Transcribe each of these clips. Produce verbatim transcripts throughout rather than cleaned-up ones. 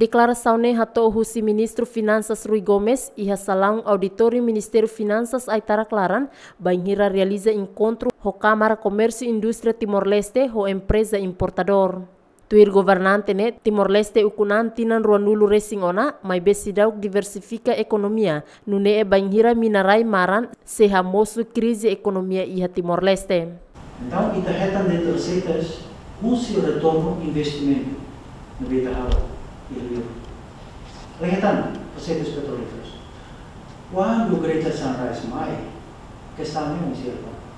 Deklarasaun ne'e hato'o husi Ministru Finansas Rui Gomes iha salaun auditóriu Ministériu Finansas Aitarak laran, bainhira realiza enkontru ho Kámara Komérsiu Indústria Timor-Leste ho empreza importadór. Tuir governante ne'e, Timor-Leste ukun an tinan ruanulu resin ona, maibé seidauk diversifika ekonomia, nune'e bainhira mina-rai maran sei hamosu krize ekonomia iha Timor-Leste. Entaun, ita hetan de'it reseitas husi retornu investimentu ne'ebé ita halo iha liur. Hetan reseitas petrolíferas. Kuandu Greater Sunrise mai, kestaun ne'e oin sei akontese.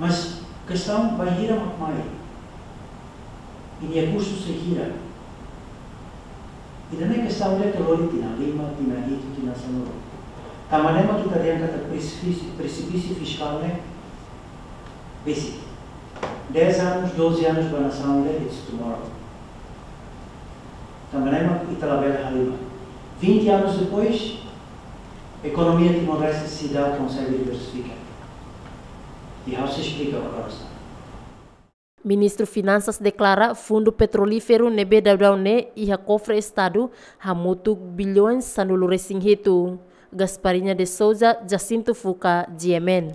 Mas kestaun bainhira mak mai, i nia kustu sei hira. Ida-ne'e kestaun ida ke lori tinan lima, tinan hitu, tinan sanulu. Tanba ne'e mak ita dehan katak presipísiu, presipísiu fiskál ne'e besik. Dez anos, doze anos ba nasaun ida, it's tomorrow. Tanba ne'e mak ita labele halimar. Vinte anos depois, ekonomia Timor-Leste seidauk konsege diversifika. I ha'u sei esplika agora. Ministru Finansas deklara fundu petrolíferu ne'ebé daudaun ne'e iha kofre Estadu hamutuk bilhões sanulu resin hitu. Gasparinha de Souza, Jacinto Fuca, G M N.